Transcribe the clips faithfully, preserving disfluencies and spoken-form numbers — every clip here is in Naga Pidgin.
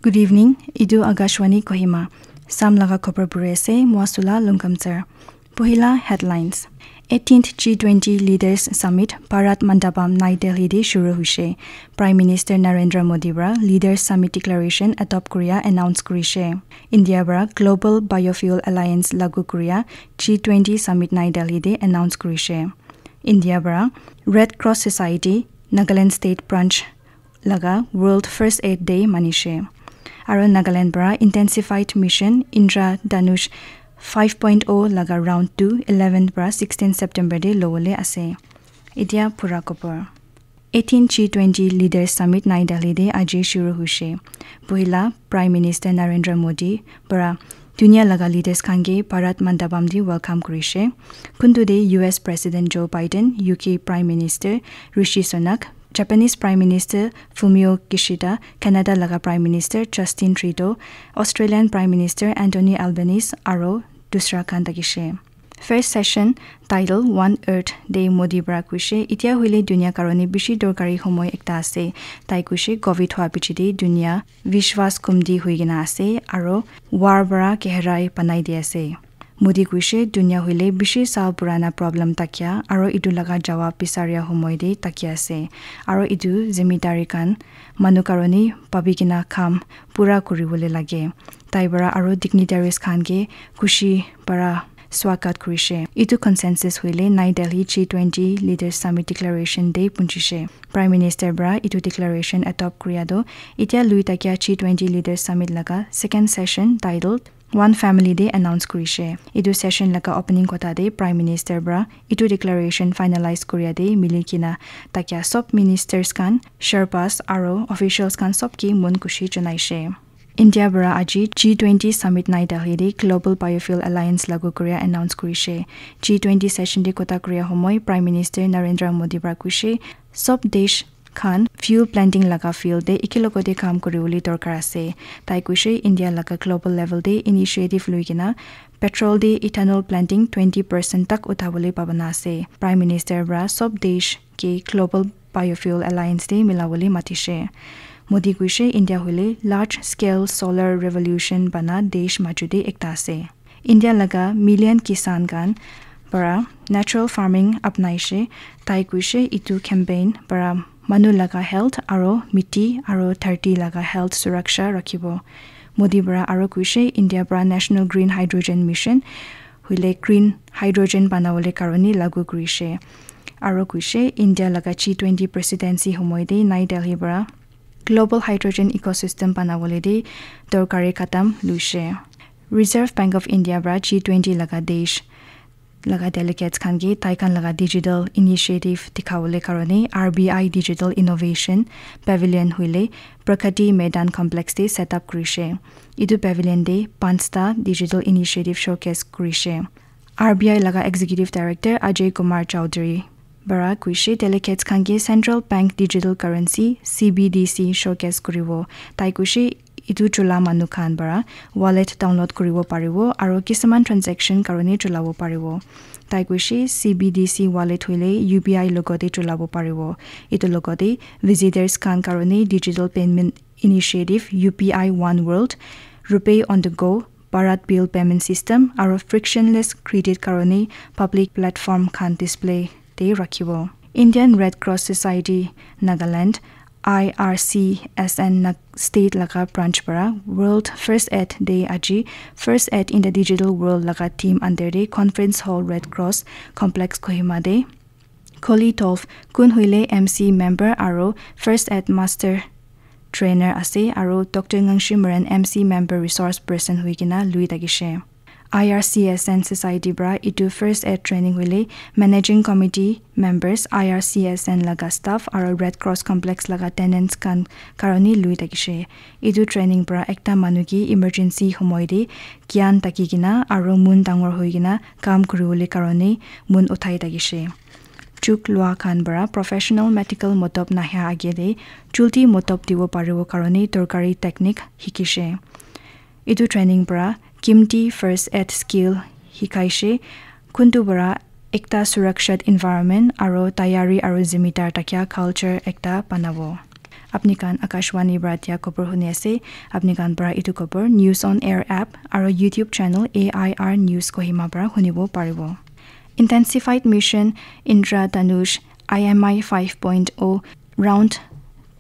Good evening, etu Akashvani Kohima. Sam laga khobor puri ase, Mwasula Lungkamsar. Pohila headlines. eighteenth G twenty Leaders Summit Bharat Mandapam Nai Delhi de shuru hoishe. Prime Minister Narendra Modi para Leaders Summit Declaration adopt kuria announce kurishe. India para Global Biofuel Alliance lagu kuria G twenty Summit Nai Delhi de announce kurishe. India para Red Cross Society Nagaland State Branch laga World First Aid Day manishe. Aro Nagaland para Intensified Mission Indra Dhanush five point oh laga round two eleven para sixteen September de lowole ase. Etia pura khobor. eighteen G twenty Leaders Summit Nai Delhi de aji shuru hoishe. Pohila Prime Minister Narendra Modi para dunia laga leaders khan ke Bharat Mandapam de welcome kurishe. Kuntu de U S President Joe Biden, U K Prime Minister Rishi Sunak, Japanese Prime Minister Fumio Kishida, Canada laga Prime Minister Justin Trudeau, Australian Prime Minister Anthony Albanese aro dusra khan thakishe. First session title One Earth de Modi para kuishe, "Itia hoile dunia karone bishi dorkari homoy ekta ase." Tai kuishe, "Covid hua piche de dunia vishwas kumdi hui kena ase aro war para keherai banai di ase." Modi kuishe, "Dunia hoile bishi saal purana problem takia aro etu laga jawab bisaria homoy de takia ase. Aro etu zimidari khan manu karone pabi kena kam pura kuribole lage." Tai para aro dignitaries khan ke khushi para swagat kurishe. Etu consensus hoile Nai Delhi G twenty Leaders Summit Declaration de punchishe. Prime Minister para etu declaration adopt kuria do itia lui takia G twenty Leaders Summit laga second session titled One Family de announce kurishe. Etu session laga opening kotha de Prime Minister para etu declaration finalize kuria de mili kena takia sob ministers khan, Sherpas aro officials khan sob ke mon khushi janaishe. India para aji G twenty Summit Nai Delhi de Global Biofuel Alliance lagu kuria announce kurishe. G twenty session de kotha kuria homoy Prime Minister Narendra Modi para kuishe, sob desh khan fuel planting laga field de ekelogote kam kuribole dorkar ase. Tai kuishe, India laga global level de initiative lui kena petrol de ethanol planting twenty percent tak uthabole pabana ase. Prime Minister para sob desh ke Global Biofuel Alliance de milabole matishe. Modi kuishe, India hoile large scale solar revolution bana desh maju de ekta ase. India laga million kisan khan para natural farming apnaishe. Tai kuishe, etu campaign para manu laga health aro miti aro dharti laga health suraksha rakhibo. Modi para aro kuishe, India para National Green Hydrogen Mission hoile green hydrogen banabole karone lagu kurishe. Aro kuishe, India laga G twenty presidency homoy de Nai Delhi para global hydrogen ecosystem banabole de dorkari kadam luishe. Reserve Bank of India para G twenty laga desh laga delegates khan ke tai khan laga digital initiative dikhabole karone R B I Digital Innovation Pavilion hoile Pragati Maidan Complex de set up kurishe. Etu pavilion de panchta digital initiative showcase kurishe. R B I laga Executive Director Ajay Kumar Chaudhary para kuishe, delegates khan ke Central Bank Digital Currency, C B D C, showcase kuribo. Tai kuishe, etu chola manu khan para wallet download kuribo paribo aro kisuman transaction karone cholabo paribo. Tai kuishe, C B D C wallet hoile U P I logote cholabo paribo. Etu logote visitors khan karone digital payment initiative U P I One World, RuPay on the Go, Bharat Bill Payment System aro frictionless credit karone public platform khan display de rakhibo. Indian Red Cross Society Nagaland, I R C S N Nag-, state laga branch para World First Aid Day aji First Aid in the Digital World laga theme under de Conference Hall Red Cross Complex Kohima de Kholi Tov, kun hoile M C member aro First Aid Master Trainer ase, aro Doctor Ngangshi Maran M C member resource person hui kena lui thakishe. I R C S N Society para etu First Aid Training hoile Managing Committee members, I R C S N laga staff aro Red Cross Complex laga tenants khan karone lui thakishe. Etu training para ekta manu ke emergency homoy de gyan thaki kena aro mon dangor hui kena kam kuribole karone mon uthai thakishe. Chuk lua khan para professional medical motop nahia age de julti motop dibo paribo karone dorkari technique hikishe. Etu training para kimti first aid skill hikaishe, kuntu para ekta surakshat environment aro tayari aro zimidar thakia culture ekta banabo. Apni khan Akashvani para dia khobor huni ase. Apni khan para etu khobor News on Air app aro YouTube channel A I R News Kohima para hunibo paribo. Intensified Mission Indra Dhanush I M I five point oh round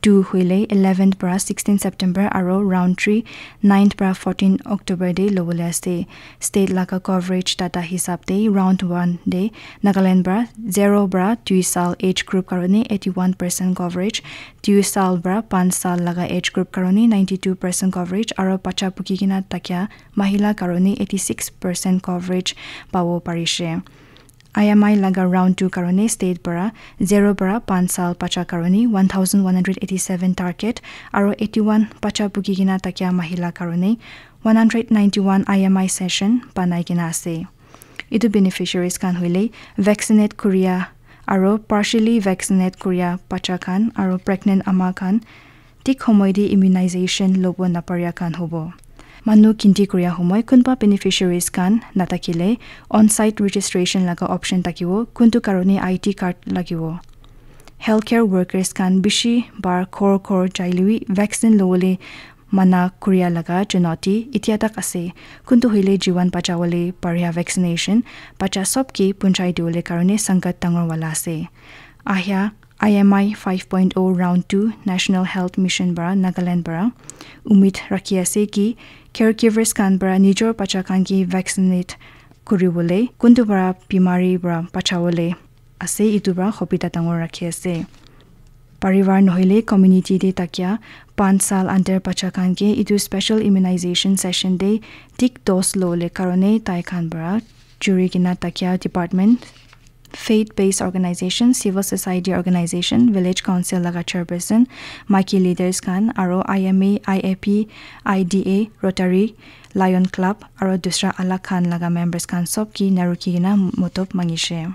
two hoile eleventh para sixteen September aro round three ninth para fourteen October te lobole ase. State laga coverage data hisab te round one te Nagaland para zero para dui sal age group karone eighty one percent coverage, dui sal para panch sal laga age group karone ninety two percent coverage aro bacha puki kena thakia mahila karone eighty six percent coverage pabo parishe. I M I laga round two karone state para zero para panch sal bacha karone one thousand one hundred eighty seven target aro eighty one bacha puki kena thakia mahila karone one hundred ninety one I M I session banai kena ase. Etu beneficiaries khan hoile vaccinate kuria aro partially vaccinate kuria bacha khan aro pregnant ama khan thik homoi te immunization lobo naparia khan hobo. Manu kinti kuria homoi kunba beneficiaries khan natakile on-site registration laga option thakibo, kuntu karone I D card lagibo. Healthcare workers khan bishi bar ghor ghor jailewi vaccine lobole mana kuria laga chunauti itya tak ase. Kuntu hoile jiwan bachawole paria vaccination bacha sob ke punchai diwole karone sangat dangor wala ase. Ahya I M I five point oh round two National Health Mission para Nagaland para umid rakhi ase ki caregivers khan para nijor bacha khan ke vaccinate kuribole kuntu para bimari para bachawole ase, etu para hobita dangor rakhi ase. Parivar nohoile community te thakia panch sal under bacha khan ke etu special immunization session te thik dose lole karone tai khan para juri kena thakia department, faith based organization, civil society organization, village council laga chairperson, maiki leaders khan aro I M A, I A P, I D A, Rotary, Lion Club aro dusra alak khan laga members khan sob ke narukhi kena motob mangishe.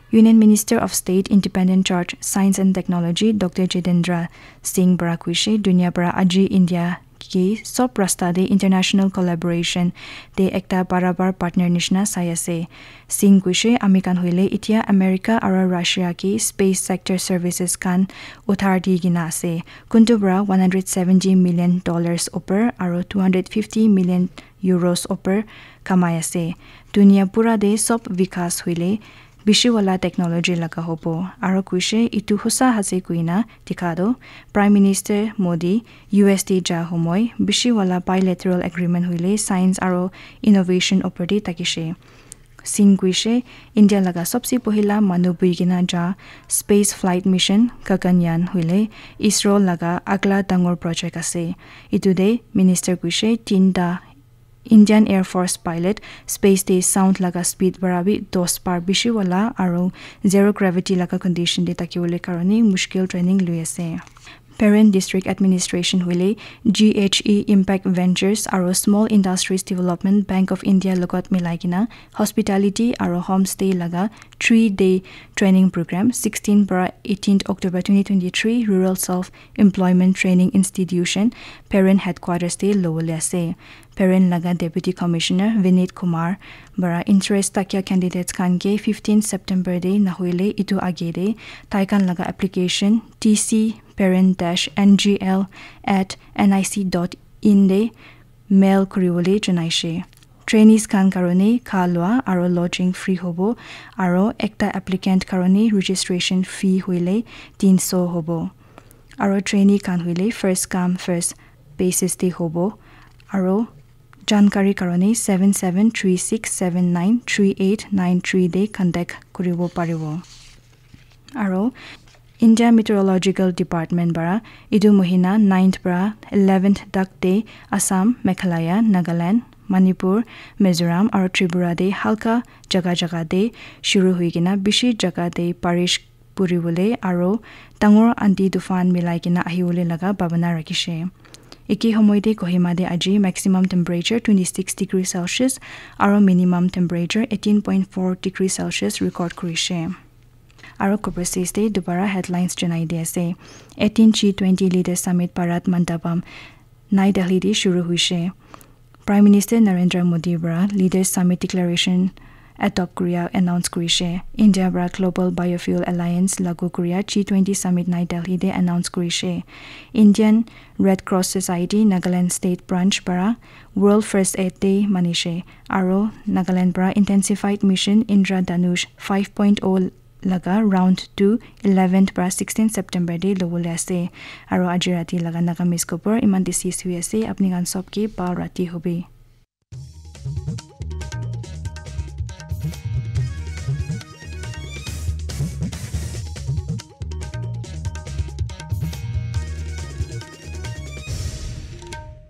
Union Minister of State, Independent Charge, Science and Technology, Doctor Jitendra Singh para kuishe, dunia para aji India ke sob rasta te international collaboration te ekta barabar partner nishina sai ase. Singh kuishe, ami khan hoile itya America aro Russia ke space sector services khan uthar di kena ase. Kuntu para one hundred seventy million dollars upor aro two hundred fifty million euros upor kamai ase. Dunia pura te sob vikas hoile bishi wala technology laga hobo. Aro kuishe etu hosa ase kuina dikha toh Prime Minister Modi U S te ja homoi bishi wala bilateral agreement hoile science aro innovation opor te thakishe. Singh kuishe India laga sobse pohila manu bui kena ja space flight mission Gaganyaan hoile ISRO laga agla dangor project ase. Etu te minister kuishe tinta Indian Air Force pilot space te sound laga speed para bi dos bar bishi wala aro zero gravity laga condition te thakibole karone mushkil training lui ase. Peren District Administration hoile G H E Impact Ventures aro Small Industries Development Bank of India logot milai kena hospitality aro homestay laga three day training program sixteen para eighteen October twenty twenty-three Rural Self Employment Training Institution Peren Headquarters te lobole ase. Peren laga Deputy Commissioner Vineet Kumar para interest thakia candidates khan ke fifteen September te nahoile etu age te tai khan laga application T C peren dash N G L at N I C dot in te mail kuribole janaishe. Trainees khan karone kha lua aro lodging free hobo aro ekta applicant karone registration fee hoile tinso hobo. Aro trainee khan hoile first come first basis te hobo aro jankari karone seven seven three six seven nine three eight nine three te contact kuribo paribo. Aro India Meteorological Department para etu mohina ninth para eleventh tak te Assam, Meghalaya, Nagaland, Manipur, Mizoram aro Tripura te halka jaga jaga te shuru hui kena bishi jaga te barish puribole aro dangor andi tufan milai kena ahibole laga babana rakhishe. Eke homoy te Kohima te aji maximum temperature twenty six degree Celsius aro minimum temperature eighteen point four degree Celsius record kurishe. Aro overseas te dubara headlines janai di ase. Eighteen G twenty Leaders Summit Bharat Mandapam, Nai Delhi te shuru huishe. Prime Minister Narendra Modi para Leaders Summit Declaration adopt kuria announce kurishe. India para Global Biofuel Alliance lagu kuria G twenty Summit Nai Delhi te announce kurishe. Indian Red Cross Society Nagaland State Branch para World First Aid Day manishe. Aro Nagaland para Intensified Mission Indra Dhanush five point oh laga round two eleventh para sixteen September te lobole ase. Aro aji rati laga Nagamese khobor iman te ses hoi ase. Apni khan sob ke bhal rati hobi.